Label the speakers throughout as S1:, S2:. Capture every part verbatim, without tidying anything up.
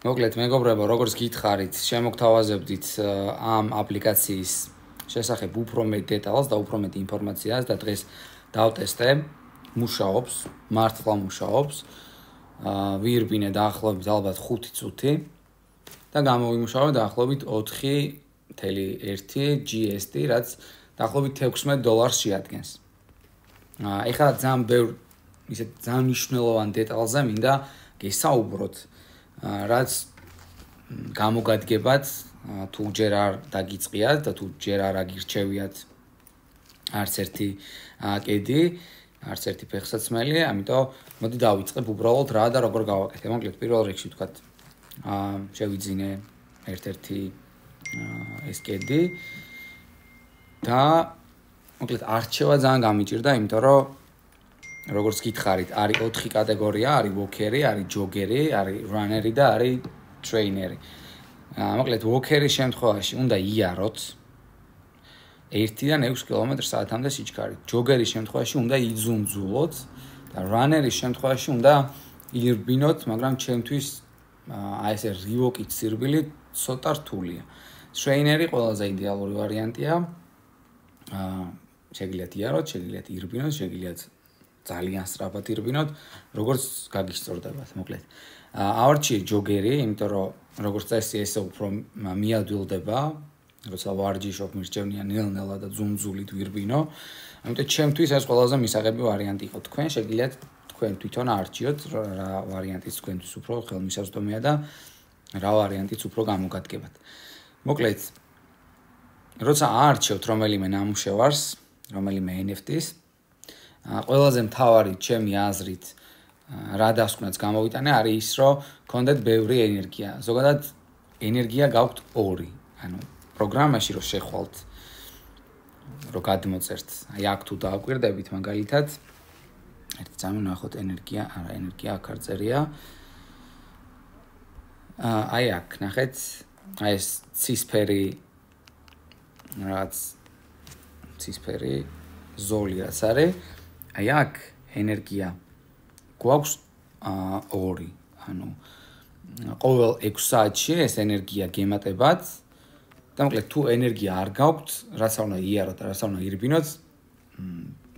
S1: მოკლედ მეგობრებო, როგორც გითხარით, შემოგთავაზებდით ამ აპლიკაციის შესახებ უფრო მეტ დეტალს და უფრო მეტ ინფორმაციას და დღეს დავტესტე, მუშაობს, მართლა მუშაობს. ვირბინე დაახლოებით ალბათ ხუთი წუთი და გამოვიმუშავე დაახლოებით ოთხი ნული ერთი ჯი ეს ტი, რაც დაახლოებით ექვსმეტ დოლარს შეადგენს. ეხლა ძალიან ბევრ ისეთ ძალიან მნიშვნელოვან დეტალზე მინდა გესაუბროთ, რაც გამოგადგებათ თუ ჯერ არ დაგიწყიათ და თუ ჯერ არ აგირჩევიათ არც ერთი კედი, არც ერთი ფეხსაცმელი, ამიტომ მოდი დავიწყებ უბრალოდ რა და როგორ გავაკეთე. მოკლედ პირველ რიგში ვთქვათ, შევიძინე ერთ-ერთი ეს კედი და მოკლედ არჩევა ძალიან გამიჭირდა, იმიტომ რომ როგორც გითხარით, არის ოთხი კატეგორია, არის ვოქერი, არის ჯოგერი, არის რანერი და არის ტრეინერი. მოკლედ ვოქერის შემთხვევაში უნდა იაროთ ერთიდან ექვს კილომეტრ საათამდე სიჩქარით. ჯოგერის შემთხვევაში უნდა იძუნძულოთ და რანერის შემთხვევაში უნდა ირბინოთ, მაგრამ ჩემთვის აი ესე რივოკით სირბილი ცოტა რთულია. ტრეინერი ყველაზე იდეალური ვარიანტია. შეგიძლიათ იაროთ, შეგიძლიათ ირბინოთ, შეგიძლიათ ძალიან სწრაფად ირბინოთ, როგორც გაგისწორდებათ, მოკლედ. ავარჩიე ჯოგერი, იმიტომ რომ როგორც წესი ესე უფრო მიადვილდება, როცა ვარჯიშობ, მირჩევნია ნელ-ნელა და ძუნძულით ვირბინო. ამიტომ ჩემთვის ეს ყველაზე მისაღები ვარიანტი იყო. თქვენ შეგიძლიათ თქვენ თვითონ არჩიოთ, რა ვარიანტიც თქვენთვის უფრო ხელმისაწვდომია და რა ვარიანტიც უფრო გამოგადგებათ. მოკლედ, როცა აარჩევთ რომელიმე ნამუშევარს, რომელიმე ენ ეფ ტის, ყველაზე მთავარი ჩემი აზრით რა დასკვნაც გამოვიტანე არის ის, რომ გქონდეთ ბევრი ენერგია. ზოგადად ენერგია გაქვთ ორი. ანუ პროგრამაში რო შეხვალთ, რო გადმოწერთ, აი აქ თუ დააკვირდებით მაგალითად, ერთი წამი ნახოთ ენერგია, არა ენერგია აქ არ წერია. აი აქ ნახეთ, აი ეს ცისფერი რაც ცისფერი ზოლი რაც არის, აი აქ ენერგია გვაქვს ორი, ანუ ყოველ ექვს საათში ეს ენერგია გემატებათ და მოკლედ თუ ენერგია არ გაქვთ, რაც არ უნდა იაროთ და რაც არ უნდა ირბინოთ,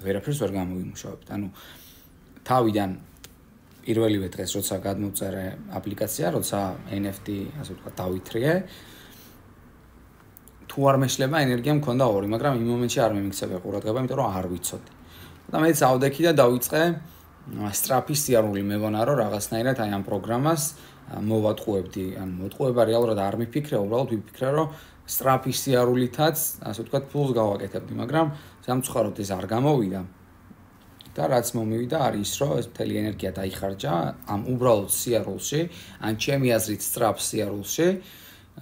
S1: ვერაფერს ვერ გამოვიმუშავებთ. ანუ თავიდან პირველივე დღეს როცა გადმოვწერე აპლიკაცია, როცა ენ ეფ ტი ასე ვთქვათ დავითრიე, თუ არ მეშლება ენერგია მქონდა ორი, მაგრამ იმ მომენტში არ მიმიქცევია ყურადღება, იმიტომ რომ არ ვიცოდი. და მეც ავდექი და დავიწყე სწრაფი სიარული მეგონა რომ რაღაცნაირად აი ამ პროგრამას მოვატყუებდი, ან მოტყუება რეალურად არ მიფიქრე, უბრალოდ ვიფიქრე რომ სწრაფი სიარულითაც, ასე ვთქვათ, ფულს გავაკეთებდი, მაგრამ სამწუხაროდ ეს არ გამოვიდა. და რაც მომივიდა არის ის, რომ ეს მთელი ენერგია დაიხარჯა ამ უბრალოდ სიარულში, ან ჩემი აზრით სწრაფ სიარულში.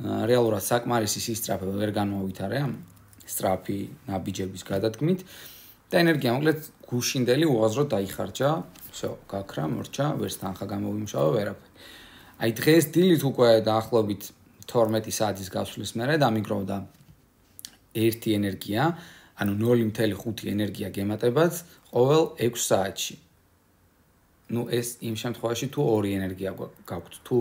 S1: რეალურად საკმარისი სისწრაფე ვერ განმოვითარე ამ სწრაფი ნაბიჯების გადადგმით და ენერგია მოკლედ გუშინდელი უაზროდ დაიხარჯა. всё, გაქრა, მორჩა, ვერც თანხა გამოვიმუშავე, ვერაფერი. აი დღეს დილით უკვე დაახლოებით თორმეტი საათის გასვლის მერე დამიგროვდა ერთი ენერგია, ანუ ნული ნული ხუთი ენერგია გემატებათ ყოველ ექვს საათში. ну ეს იმ შემთხვევაში თუ ორი ენერგია გაქვთ, თუ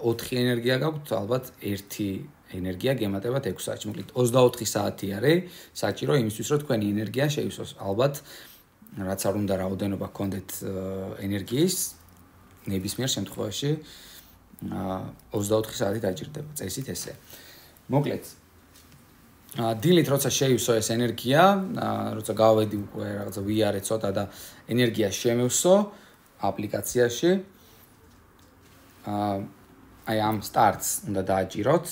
S1: ოთხი ენერგია გაქვთ, ალბათ ერთი ენერგია გემატებათ ექვს საათში. მოკლედ ოცდაოთხი საათი არის საჭირო იმისთვის, რომ თქვენი ენერგია შეივსოს. ალბათ რაც არ უნდა რაოდენობა გქონდეთ ენერგიის, ნებისმიერ შემთხვევაში ოცდაოთხი საათი დაჭირდება, წესით ესე. მოკლედ დილით როცა შეივსო ეს ენერგია, როცა გავედი უკვე რაღაცა ვიარე ცოტა და ენერგია შემევსო აპლიკაციაში, აი ამ სტარტს უნდა დააჭიროთ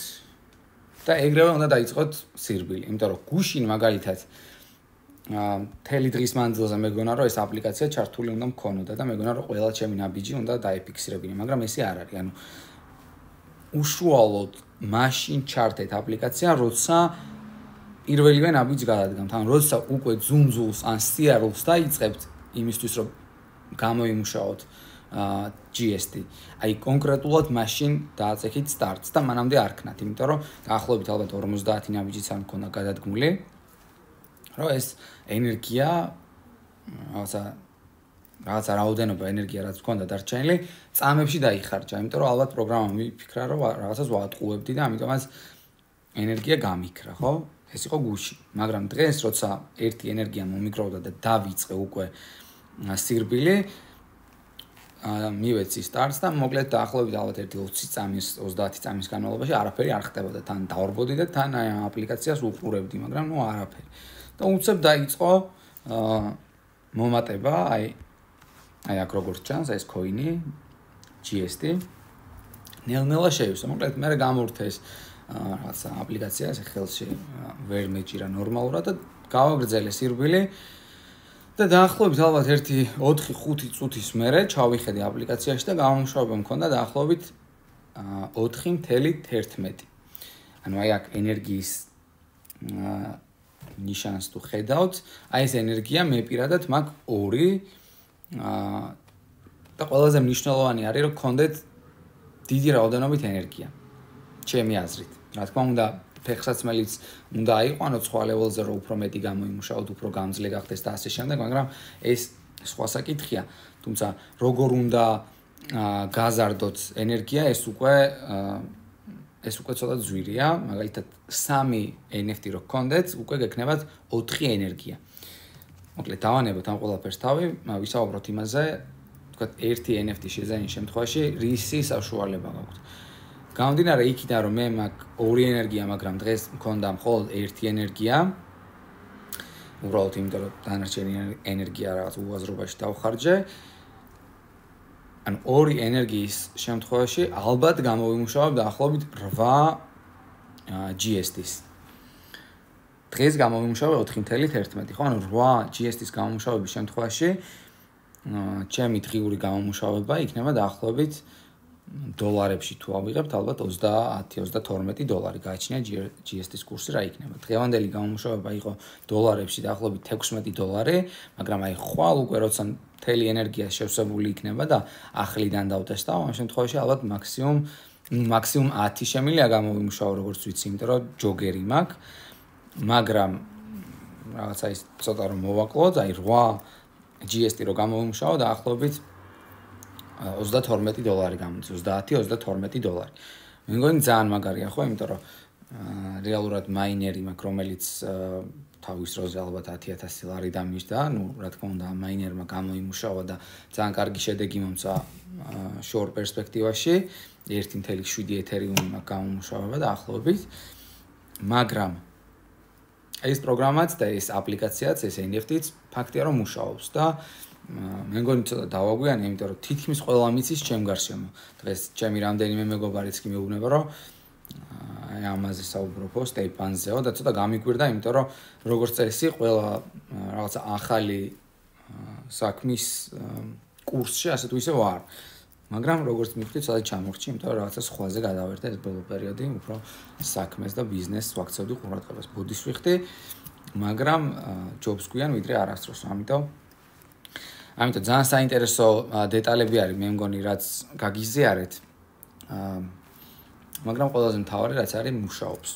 S1: და ეგრევე უნდა დაიწყოთ სირბილი, იმიტომ რომ გუშინ მაგალითად მთელი დღის მანძილზე მეგონა რომ ეს აპლიკაცია ჩართული უნდა მქონოდა და მეგონა რომ ყველა ჩემი ნაბიჯი უნდა დაეფიქსირებინე, მაგრამ ესე არ არის. ანუ უშუალოდ მაშინ ჩართეთ აპლიკაცია, როცა პირველივე ნაბიჯს გადადგამთ, ან როცა უკვე ძუნძულს ან სიარულს დაიწყებთ იმისთვის რომ გამოიმუშაოთ ჯი ეს ტი. აი კონკრეტულად მაშინ დააწექით სტარტს და მანამდე არ ქნათ, იმიტომ რომ დაახლოებით ალბათ ორმოცდაათი ნაბიჯიც არ მქონდა გადადგმული, რომ ეს ენერგია რაღაცა რაღაცა რაოდენობა ენერგია რაც მქონდა დარჩენილი, წამებში დაიხარჯა, იმიტომ რომ ალბათ პროგრამა მიფიქრა, რომ რაღაცას ვატყუებდი და ამიტომაც ენერგია გამიქრა, ხო? ეს იყო გუში. მაგრამ დღეს, როცა ერთი ენერგია მომიგროვდა და დავიწყე უკვე სირბილი, მივეცი სტარტს და მოკლედ დაახლოებით ალბათ ერთი ოცი წამის, ოცდაათი წამის განმავლობაში არაფერი არ ხდებოდა. თან დავარბოდი და თან აი ამ აპლიკაციას უყურებდი, მაგრამ ნუ არაფერი. და უცებ დაიწყო მომატება, აი აი აქ როგორც ჩანს, ეს კოინი ჯი ეს ტი ნელ-ნელა შეივსო. მოკლედ მე გამორთეს რაღაცა აპლიკაცია, ეს ხელში ვერ მეჭირა ნორმალურად და გავაგრძელე სირბილი და დაახლოებით ალბათ ერთი ოთხი ხუთი წუთის მერე ჩავიხედე აპლიკაციაში და გამომუშავება მქონდა დაახლოებით ოთხი თერთმეტი. ანუ აი აქ ენერგიის ნიშანს თუ ხედავთ, აი ეს ენერგია მე პირადად მაქვს ორი და ყველაზე მნიშვნელოვანი არის რომ გქონდეთ დიდი რაოდენობით ენერგია. ჩემი აზრით. რა თქმა უნდა, ფეხსაცმელიც უნდა აიყვანოთ სხვა ლეველზე, რომ უფრო მეტი გამოიმუშაოთ, უფრო გამძლე გახდეს და ასე შემდეგ, მაგრამ ეს სხვა საკითხია. თუმცა როგორ უნდა გაზარდოთ ენერგია, ეს უკვე ეს უკვე ცოტა ძვირია, მაგალითად სამი ენ ეფ ტი რო გქონდეთ, უკვე გექნებათ ოთხი ენერგია. მოკლედ დავანებოთ ამ ყველაფერს თავი, ვისაუბროთ იმაზე, თქვათ ერთი ენ ეფ ტი შეზაინის შემთხვევაში რისი საშუალება გაქვთ. გამომდინარე იქიდან რომ მე მაქვს ორი ენერგია, მაგრამ დღეს მქონდა მხოლოდ ერთი ენერგია. უბრალოდ იმიტომ რომ დანარჩენი ენერგია რაღაც უაზრობაში დავხარჯე. ანუ ორი ენერგიის შემთხვევაში ალბათ გამოვიმუშავებ დაახლოებით რვა ჯი ეს ტის. დღეს გამოვიმუშავე ოთხი თერთმეტი, ხო? ანუ რვა ჯი ეს ტის გამომუშავების შემთხვევაში ჩემი დღიური გამომუშავება იქნება დაახლოებით დოლარებში თუ ავიღებთ, ალბათ ოცდაათი ოცდათორმეტი დოლარი გააჩნია ჯი ეს ტის კურსი რა იქნება. დღევანდელი გამომუშავება იყო დოლარებში დაახლოებით ექვსმეტი დოლარი, მაგრამ აი ხვალ უკვე როცა მთელი ენერგია შევსებული იქნება და ახლიდან დავტესტავ, ამ შემთხვევაში ალბათ მაქსიმუმ მაქსიმუმ ათი შემიძლია გამოვიმუშავო, როგორც ვიცი, იმიტომ რომ ჯოგერი მაქვს, მაგრამ რაღაცა ის ცოტა რომ მოვაკლოთ, აი რვა ჯი ეს ტი რო გამოვიმუშავო დაახლოებით ოცდათორმეტი დოლარი გამოდის, ოცდაათი ოცდათორმეტი დოლარი. მე მგონი ძალიან მაგარია, ხო, იმიტომ რომ რეალურად მაინერი მაქვს, რომელიც თავის დროზე ალბათ ათი ათასი ლარი დამიჯდა, ну, რა თქმა უნდა, მაინერმა გამოიმუშავა და ძალიან კარგი შედეგი მომცა შორტ პერსპექტივაში, ერთი თემი შვიდი ეთერიუმი მაქვს გამომუშავება და ახლობით, მაგრამ ეს პროგრამაც და ეს აპლიკაციაც, ეს ენ ეფ ტიც ფაქტია რომ მუშაობს და მე მგონი ცოტა დავაგვიანე, იმიტომ რომ თითქმის ყველა მიცის ჩემ გარშემო. დღეს ჩემი რამდენიმე მეგობარიც კი მეუბნება, რომ აი ამაზე საუბრობო სტეიპანზეო და ცოტა გამიგვირდა, იმიტომ რომ როგორც წესი, ყველა რაღაცა ახალი საქმის კურსში ასე თუ ისე ვარ. მაგრამ როგორც მივხვდი, ცოტა ჩამორჩი, იმიტომ რომ რაღაცა სხვაზე გადავერთე ეს ბოლო პერიოდი, უფრო საქმეს და ბიზნესს ვაქცევდი ყურადღებას. ბოდიშს ვიხდი, მაგრამ ჯობს გვიან ვიდრე არასდროს, ამიტომ ამიტომ ძალიან საინტერესო დეტალები არის, მე მგონი, რაც გაგიზიარეთ. მაგრამ ყველაზე მთავარი რაც არის მუშაობს.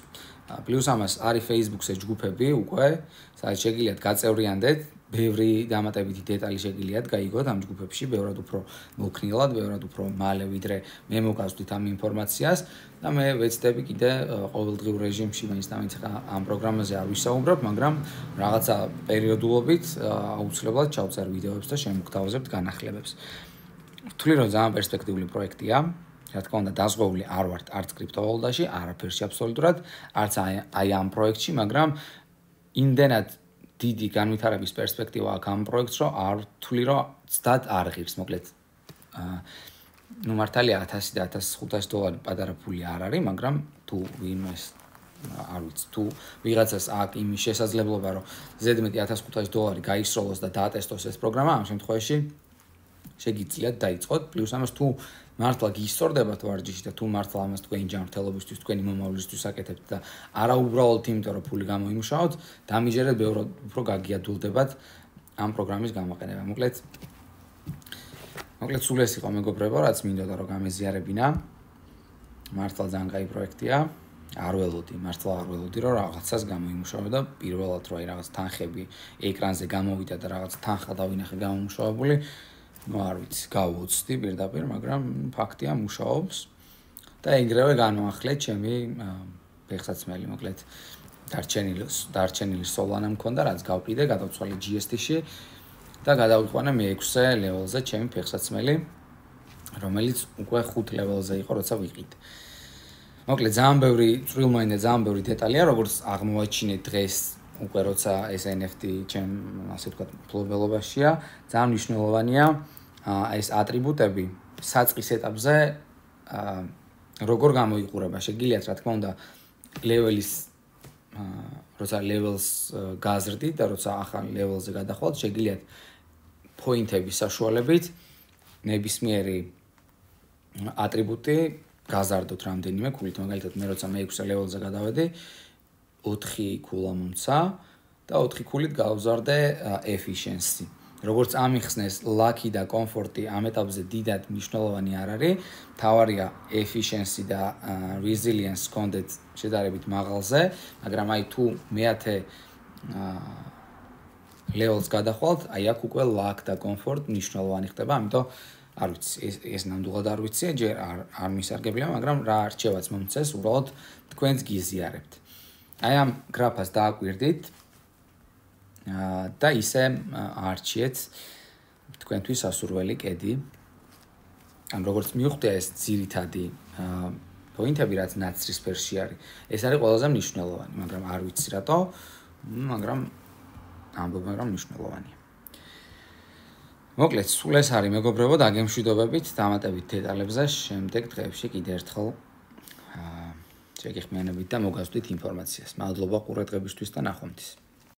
S1: პლუს ამას არის Facebook-ზე ჯგუფები უკვე, სადაც შეგიძლიათ გაწევრიანდეთ, ბევრი დამატებითი დეტალი შეგიძლიათ გაიგოთ ამ ჯგუფებში, ბევრად უფრო მოქნილად, ბევრად უფრო მალე ვიდრე მე მოგასვით ამ ინფორმაციას და მე ვეცდები კიდე ყოველდღიურ რეჟიმში, მაინც და მაინც ამ პროგრამაზე არ ვისაუბრებ, მაგრამ რაღაცა პერიოდულობით აუცილებლად ჩავწერ ვიდეოებს და შემოგთავაზებთ განახლებებს. ვთვლი რომ ძალიან პერსპექტიული პროექტია. რა თქმა უნდა, დაზღვეული არ ვართ არც კრიპტოვალუტაში, არაფერში აბსოლუტურად, არც აი ამ პროექტში, მაგრამ იმდენად დიდი განვითარების პერსპექტივა აქვს ამ პროექტს, რომ არ ვთვლი, რომ ცდად არ ღირს, მოკლედ. ნუ მართალია ათასი და ათას ხუთასი დოლარი პატარა ფული არ არის, მაგრამ თუ ვინმეს არ ვიცი, თუ ვიღაცას აქვს იმის შესაძლებლობა, რომ ზედმეტი ათას ხუთასი დოლარი გაისროლოს და დაატესტოს ეს პროგრამა, ამ შემთხვევაში შეგიძლიათ დაიწყოთ, პლუს ამას თუ მართლა გისწორდებათ ვარჯიში და თუ მართლა ამას თქვენი ჯანმრთელობისთვის, თქვენი მომავლისთვის აკეთებთ და არა უბრალოდ იმიტომ რომ ფული გამოიმუშაოთ, დამიჯერეთ ბევრად უფრო გაგიადულდებათ ამ პროგრამის გამოყენება. მოკლედ მოკლედ სულ ეს იყო მეგობრებო, რაც მინდოდა რომ გამეზიარებინა. მართლა ძალიან კაი პროექტია. არ ველოდი, მართლა არ ველოდი რომ რაღაცას გამოიმუშავა და პირველად რომ აი რაღაც თანხები ეკრანზე გამოვიდა და რაღაც თანხა დავინახე გამომუშავებული, ну არ ვიცი, გავუცდი პირდაპირ, მაგრამ ფაქტია მუშაობს და ეგრევე განვახლეთ ჩემი ფეხსაცმელი, მოკლედ დარჩენილი დარჩენილი სოლანა მქონდა, რაც გავყიდე, გადავცვალე ჯი ეს თი-ში და გადავიყვანე მეექვსე ლეველზე ჩემი ფეხსაცმელი, რომელიც უკვე ხუთ ლეველზე იყო, როცა ვიყიდე. მოკლედ ძალიან ბევრი წვრილმოინდა, ძალიან ბევრი დეტალია, როგორც აღმოვაჩინეთ დღეს უკვე როცა ეს ენ ეფ ტი ჩემ, ასე ვთქვათ, მფლობელობაშია, ძალიან მნიშვნელოვანია ეს ატრიბუტები საწყის ეტაპზე როგორ გამოიყურება. შეგიძლიათ, რა თქმა უნდა, ლეველის როცა ლეველს გაზრდით და როცა ახალ ლეველზე გადახვალთ, შეგიძლიათ პოინტების საშუალებით ნებისმიერი ატრიბუტი გაზარდოთ რამდენიმე ქულით. მაგალითად, მე როცა მეექვსე ლეველზე გადავედი, ოთხი ქულა მომცა და ოთხი ქულით გავზარდე efficiency. როგორც ამიხსნეს, lucky და comfort-ი ამ ეტაპზე დიდად მნიშვნელოვანი არ არის. თავარია efficiency და resilience კონდეთ შედარებით მაღალზე, მაგრამ აი თუ მეათე ლეველს გადახვალთ, აი აქ უკვე luck და comfort მნიშვნელოვანი ხდება, ამიტომ არ ვიცი, ეს ეს ნამდვილად არ ვიცი, ჯერ არ არ მისარგებლია, მაგრამ რა არჩევაც მომწეს, უბრალოდ თქვენს გიზიარებთ. აი ამ გრაფას დააკვირდით და ისე არჩიეთ თქვენთვის სასურველი კედი. ან როგორც მივხვდი, ეს ძირითადი პოინტები, რაც ნაცრისფერში არის, ეს არის ყველაზე მნიშვნელოვანი, მაგრამ არ ვიცი რატო, მაგრამ ამბობ, მაგრამ მნიშვნელოვანია. მოკლედ, სულ ეს არის მეგობრებო, დაგემშვიდობებით, დამატებით დეტალებზე შემდეგ დღეებში კიდევ ერთხელ შეგიხმიანებით და მოგასვით ინფორმაციას. მადლობა ყურადღებისთვის და ნახვამდის.